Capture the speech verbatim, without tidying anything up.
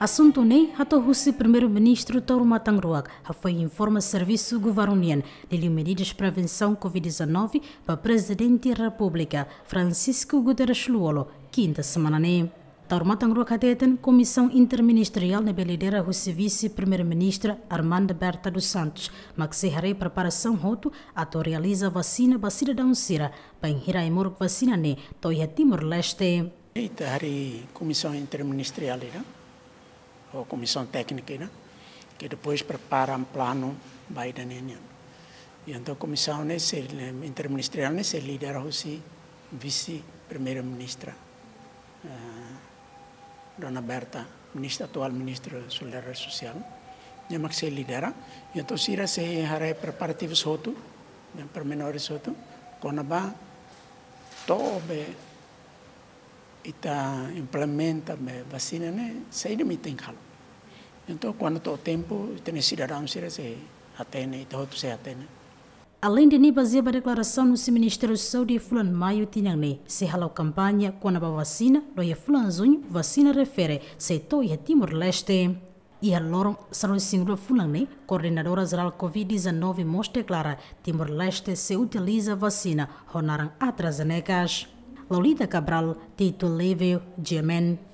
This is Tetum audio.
Asuntu ne'e hato'o husi Primeiru-Ministru Taur Matan Ruak, hafoin informa servisu governu nian liuliu medidas prevensaun COVID-19 ba Prezidente Repúblika Francisco Guterres Lú-Olo, kinta semana ne'e. Taur Matan Ruak hateten Komisaun Interministeriál ne'ebé lidera husi Vise-Primeiru-Ministra Armanda Berta dos Santos mak sei haree preparasaun hotu atu realiza vasina ba sidadaun sira bainhira ai-moruk vasina ne'e to'o iha Timor-Leste. Ita harii komisaun interministeriál ida, ou komisaun téknika ida, ke depois prepara planu ba ida-ne'e nian. I entaun komisaun ne'e sei, interministeriál ne'e sei lidera husi Vise-Primeiru-Ministra, eh, Dona Berta, ministra, atuál Ministra Solidariedade Sosiál, nia mak sei lidera. I entaun sira sei haree preparativus hotu, pormenores hotu, kona-ba to'o be ita implementa be vasina ne'e, saida mak ita tenke halo. Entaun, kuandu to'o tempu, ita-nia sidadaun sira sei hatene, ita hotu sei hatene. Aleinde ne'e, bazeia ba deklarasaun husi Ministériu Saúde fulan Maiu tinan ne'e, sei hala'o kampaña kona-ba vasina, no iha fulan Juñu vasina refere sei to'o iha Timor-Leste. Iha loron sanulu-resin-rua fulan ne'e, Koordenadora Jerál COVID-19 mós deklara Timor-Leste sei utiliza vasina ho naran AstraZeneca. Lolita Cabral, Tito Livio, G M N.